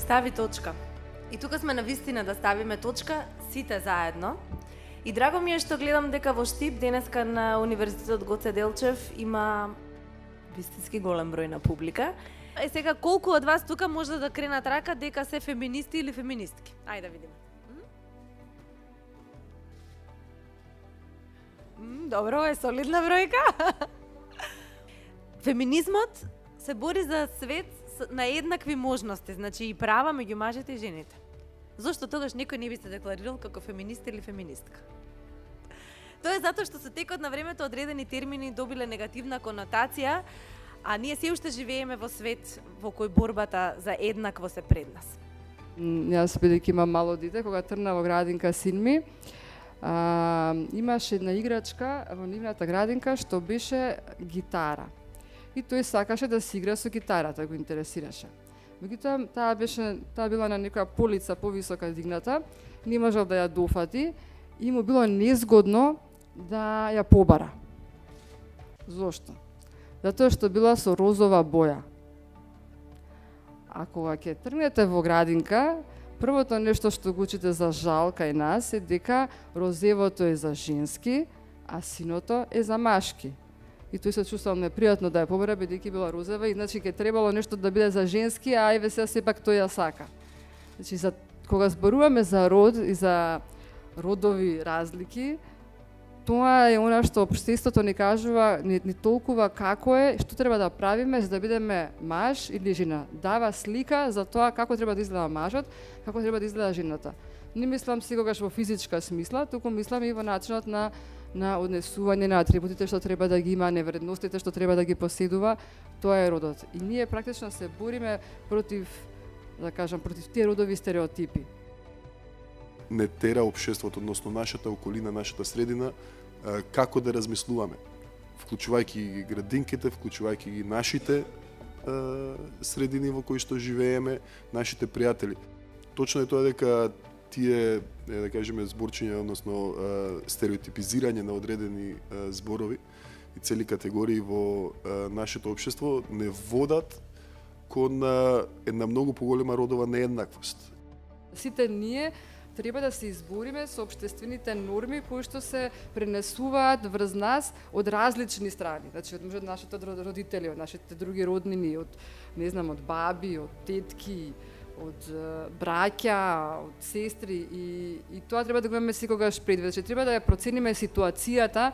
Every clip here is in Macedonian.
стави точка. И тука сме на вистина да ставиме точка сите заедно. И драго ми е што гледам дека во Штип денеска на Универзитетот Гоце Делчев има вистински голем број на публика. Сега колку од вас тука може да кренат рака дека се феминисти или феминистки? Ајде да видиме. Добро, е солидна бројка. Феминизмот се бори за свет на еднакви можности, значи и права меѓу мажите и жените. Зошто тогаш некој не би се декларирал како феминист или феминистка? Тоа е затоа што со текот на времето одредени термини добиле негативна конотација, а ние се уште живееме во свет во кој борбата за еднакво се пред нас. Јас бидејќи имам мало дете, кога тргна во градинка син ми, имаше една играчка во нивната градинка што беше гитара. И тој сакаше да си игра со гитарата, го интересираше. Меѓутоа, таа била на некоја полица повисока дигната, не можел да ја дофати и му било незгодно да ја побара. Зошто? Затоа што била со розова боја. А кога ќе тргнете во градинка, првото нешто што го учите за жал кај нас е дека розевото е за женски, а синото е за машки. И тој се чувствувал непријатно да ја побара, бидејќи била розова, и значи ќе требало нешто да биде за женски, а еве сега сепак тој ја сака. Значи, кога зборуваме за род и за родови разлики, тоа е она што општеството ни кажува, ни толкува како е, што треба да правиме за да бидеме маж или жена. Дава слика за тоа како треба да изгледа мажот, како треба да изгледа жената. Не мислам секогаш во физичка смисла, туку мислам и во начинот на однесување на атрибутите што треба да ги има, невредностите што треба да ги поседува, тоа е родот. И ние практично се бориме против, да кажам, против тие родови стереотипи. Не тера општеството, односно нашата околина, нашата средина, како да размислуваме, вклучувајќи ги градинките, вклучувајќи ги нашите средини во кои што живееме, нашите пријатели. Точно е тоа дека тие, да кажеме, зборчиња, односно стереотипизирање на одредени зборови и цели категории во нашето општество не водат кон една многу поголема родова нееднаквост. Сите ние треба да се избориме со општествените норми кои што се пренесуваат врз нас од различни страни. Значи, од нашите родители, од нашите други роднини, од, не знам, од баби, од тетки, од браќа, од сестри, и тоа треба да го имаме секогаш предвид. Значи, треба да ја процениме ситуацијата,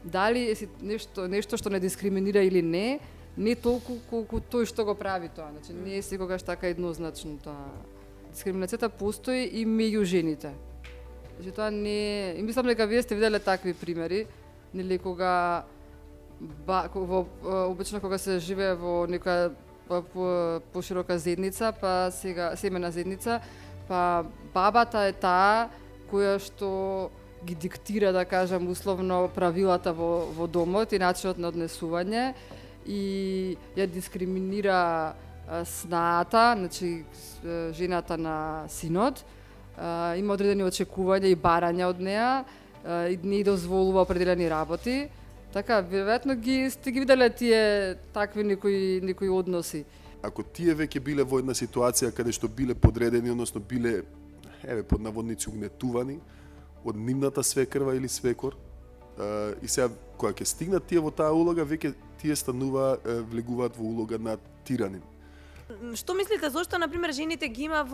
дали е нешто што не дискриминира или не толку колку тој што го прави тоа. Значи, не е секогаш така еднозначно тоа. Дискриминацијата постои и меѓу жените. Значи, тоа не... И мислам дека вие сте виделе такви примери, нели, кога обично кога се живее во некоја поширока зедница, па сега семена зедница, па бабата е таа која што ги диктира, да кажам, условно правилата во домот и начинот на однесување и ја дискриминира снаата, значи жената на синот, има одредени очекувања и барања од неа, и не дозволува определени работи. Така, веројатно сте ги виделе тие такви некои односи. Ако тие веќе биле во една ситуација каде што биле подредени, односно биле, под наводници, угнетувани од нивната свекрва или свекор, и сега кога ќе стигнат тие во таа улога, веќе тие влегуваат во улога на тиранин. Што мислите, зошто, например, жените ги има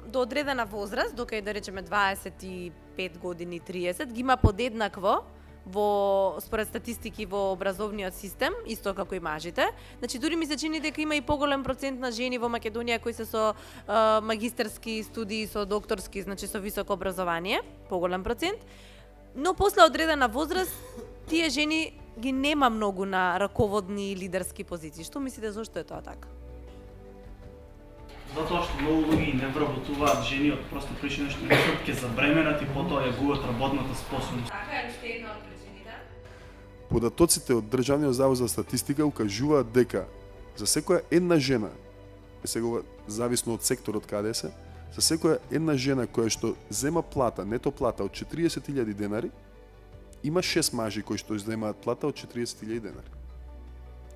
до одредена возраст, дока да речеме 25 години, 30, ги има подеднакво според статистики во образовниот систем, исто како и мажите. Значи, дури ми се чини дека има и поголем процент на жени во Македонија кои се со магистерски студии, со докторски, значи со високо образование, поголем процент. Но после одредена возраст, тие жени ги нема многу на раководни и лидерски позиции. Што мислите, зошто е тоа така? Затоа што многу луѓе не вработуваат жени од проста причина што мислат ќе забременат и потоа ја губат работната способност. Така е уште една од причините. Податоците од Државниот завод за статистика укажуваат дека за секоја една жена, сега зависно од секторот каде се, за секоја една жена која што зема плата, нето плата од 40.000 денари, има 6 мажи кои што земаат плата од 40.000 денари.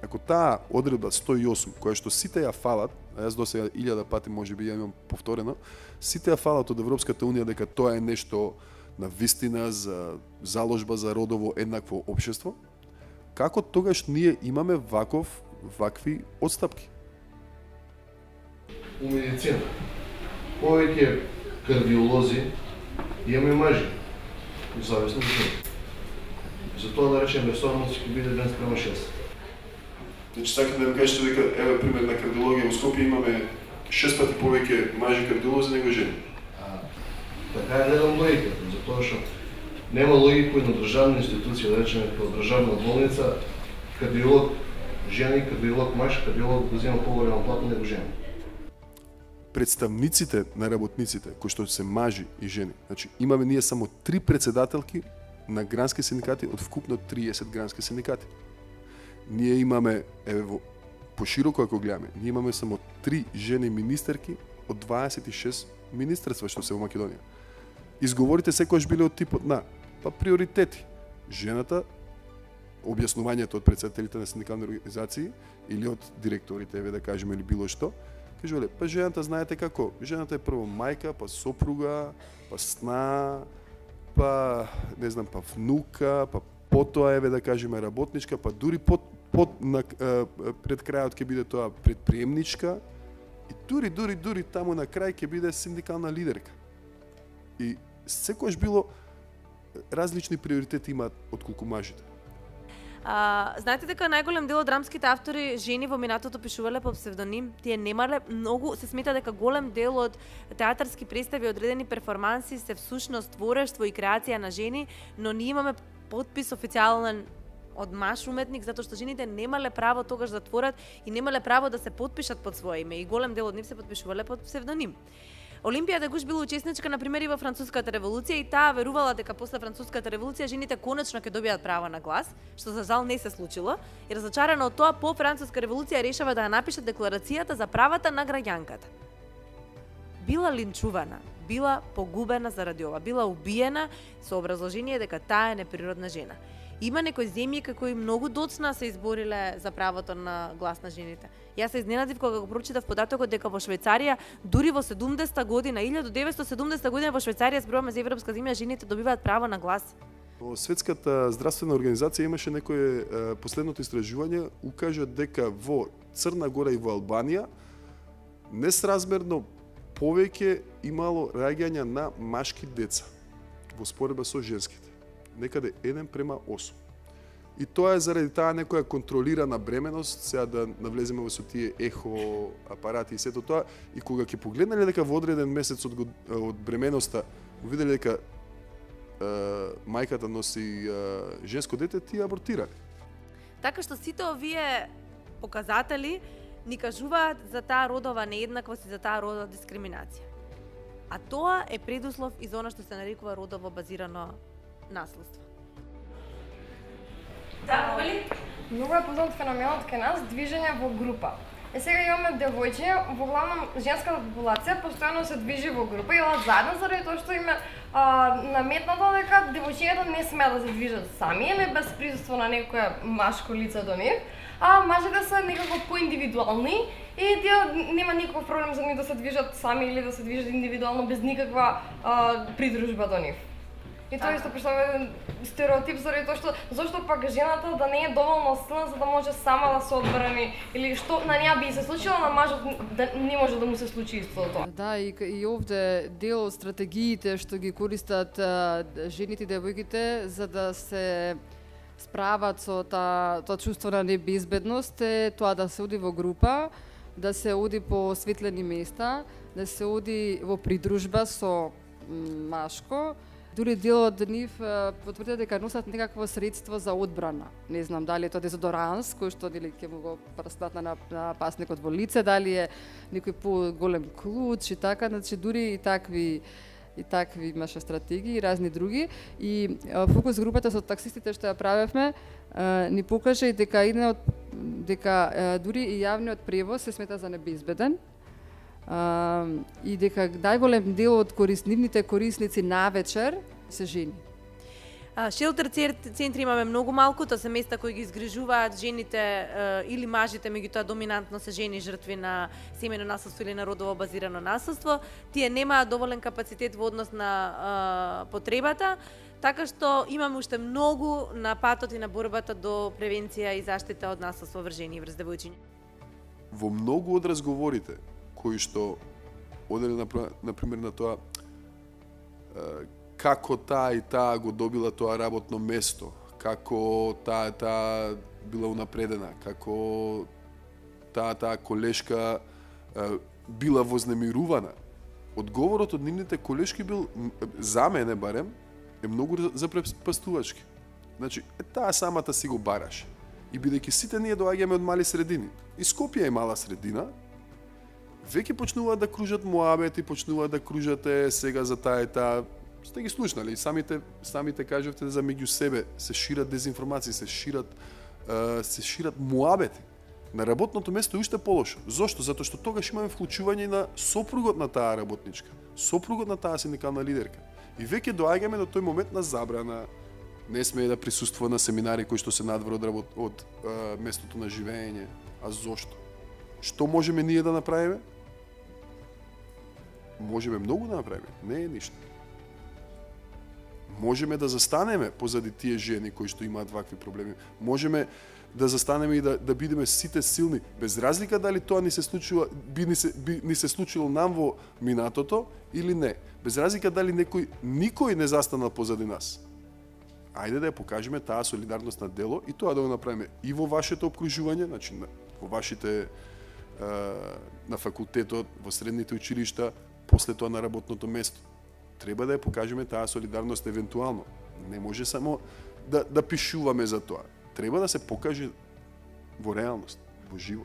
Ако таа одредба 108, која што сите ја фалат, а јас досега 1000 пати можеби ја имам повторено, сите ја фалат од Европската унија дека тоа е нешто на вистина за заложба за родово еднакво општество, како тогаш ние имаме вакви отстапки? У медицина повеќе кардиолози имаме мажи, зависно од жени. Затоа да речеме сорност ќе биде 1:6. Значи сакате да ми кажете дека еве пример на кардиологија во Скопје имаме 6 пати повеќе мажи кардиолози него жени. Така е гледам логиката, затоа што нема логика кој на државна институција, да речеме како државна болница, кардиолог жени, кардиолог маж, кардиолог да зема поголема плата него жени. Представниците на работниците, кои што се мажи и жени, значи имаме ние само 3 председателки на грански синдикати од вкупно 30 грански синдикати. Ние имаме, еве пошироко ако гледаме, ние имаме само 3 жени министерки од 26 министерства што се во Македонија. Изговорите секогаш биле од типот на приоритети. Жената, објаснувањето од председателите на синдикални организации или од директорите, еве да кажеме, или било што, кажувале, жената знаете како, жената е прво мајка, па сопруга, па сна, па не знам, па внука, па потоа еве да кажеме работничка, па дури пред крајот ќе биде тоа предприемничка и дури таму на крај ќе биде синдикална лидерка. И секогаш било различни приоритети имаат отколку мажите. Знаете дека најголем дел од драмските автори жени во минатото пишувале по псевдоним. Тие немале многу, се смета дека голем дел од театарски представи, одредени перформанси се всушност творештво и креација на жени, но ние имаме подпис официјален од маж уметник, затоа што жените немале право тогаш да творат и немале право да се подпишат под свое име и голем дел од нив се подпишувале под псевдоним. Олимпија Дегуш била учесничка, например, и во Француската револуција и таа верувала дека после Француската револуција жените конечно ќе добијат право на глас, што за жал не се случило, и разочарана од тоа по Француска револуција решава да ја напише декларацијата за правата на граѓанката. Била линчувана, била погубена заради ова, била убиена со образложение дека таа е неприродна жена. Има некои земји кои многу доцна се избориле за правото на глас на жените. Јас се изненадив кога го прочитав податокот дека во Швајцарија, дури во 70-та година, 1970 година во Швајцарија, зборуваме за европска земја, жените добиваат право на глас. Во Светската здравствена организација имаше некое последното истражување, укажа дека во Црна Гора и во Албанија несразмерно повеќе имало раѓања на машки деца во споредба со женските. Некаде 1:8. И тоа е заради таа некоја контролирана бременост, сега да навлеземе во со тие ехо апарати и сето тоа, и кога ќе погледнале дека во одреден месец од бременоста виделе дека мајката носи женско дете, тие абортирале. Така што сите овие показатели ни кажуваат за таа родова нееднаквост и за таа родова дискриминација. А тоа е предуслов и за она што се нарекува родово базирано наследство. Да, Овели? Многу е познат феноменот кај нас движење во група. Сега имаме девојчиња, во главном женската популација постојано се движи во група и одат заедно заради тоа што име наметнато дека девојчињата не смеат да се движат сами или без присуство на некоја машко лице до нив, а мажите се некако поиндивидуални и тие нема никаков проблем за нив да се движат сами или да се движат индивидуално без никаква придружба до нив. И тоа исто представува еден стереотип заради тоа што зошто пак жената да не е доволно силна за да може сама да се одбрани или што на неа би се случило, на мажот да не може да му се случи исто тоа. Да, и овде дел од стратегиите што ги користат жените и девојките за да се справат со тоа чувство на небезбедност е тоа да се оди во група, да се оди по светлени места, да се оди во придружба со машко. Дури дел од нив потврдија дека носат некакво средство за одбрана. Не знам дали е тоа дезодоранс кој што нели ќе му го прстат на пасникот во лице, дали е некој поголем клуч и така, значи дури и такви имаше стратегии и разни други. И фокус групата со таксистите што ја правевме ни покажа и дека дури и јавниот превоз се смета за небезбеден. И дека најголем дел од нивните корисници навечер се жени. Шелтер центри имаме многу малку, тоа се места кои ги изгрижуваат жените или мажите, меѓутоа доминантно се жени жртви на семено насилство или на родово базирано насилство. Тие немаат доволен капацитет во однос на потребата, така што имаме уште многу на патот и на борбата до превенција и заштита од насилство врз жени и врз девојчиња. Во многу од разговорите кои што одели на пример на тоа како таа и таа го добила тоа работно место, како таа била унапредена, како таа колешка била вознемирувана. Одговорот од нивните колешки бил, за мене барем, е многу запрепастувачки. Значи, таа самата си го бараше. И бидејќи сите ние доаѓаме од мали средини, и Скопје е мала средина, веќе почнуваат да кружат муабети, почнуваат да кружате сега за таа и таа. Сте ги слушнали, самите кажавте за меѓу себе се шират дезинформации, се шират муабети. На работното место е уште полошо. Зошто? Затоа што тогаш имаме вклучување на сопругот на таа работничка, сопругот на таа синдикална лидерка. И веќе доаѓаме до тој момент на забрана, не смее да присуствува на семинари кои што се надвор од местото на живење. А зошто? Што можеме ние да направиме? Можеме многу да направиме, не е ништо. Можеме да застанеме позади тие жени кои што имаат вакви проблеми. Можеме да застанеме и да бидеме сите силни, без разлика дали тоа ни се случило нам во минатото или не. Без разлика дали никој не застанал позади нас. Ајде да ја покажеме таа солидарност на дело и тоа да го направиме и во вашето опкружување, значи во вашите на факултетот, во средните училишта, после тоа на работното место. Треба да ја покажеме таа солидарност евентуално. Не може само да пишуваме за тоа. Треба да се покаже во реалност, во живо.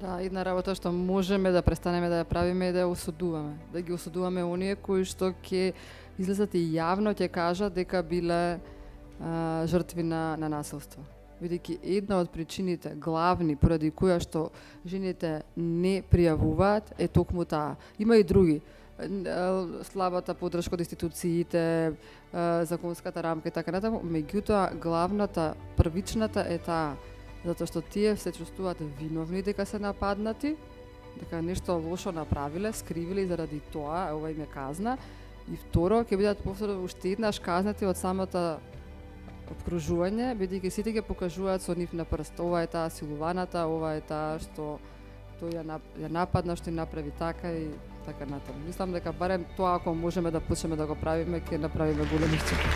Да, една работа што можеме да престанеме да ја правиме е да ја осудуваме. Да ги осудуваме оние кои што ќе излезат и јавно ќе кажат дека биле жртви на насилство. Бидејќи една од причините главни поради која што жените не пријавуваат е токму таа. Има и други. Слабата поддршка од институциите, законската рамка и така натаму, меѓутоа главната, првичната е таа, затоа што тие се чувствуваат виновни дека се нападнати, дека нешто лошо направиле, скривиле и заради тоа ова им е казна, и второ ќе бидат повторно уште еднаш казнати од самото обкружување, бидејќи сите ќе покажуваат со нив на прст, ова е таа силуваната, ова е таа што тој ја нападна, што им направи така и така натаму. Мислам дека барем тоа ако можеме да почнеме да го правиме, ќе направиме големи стапки.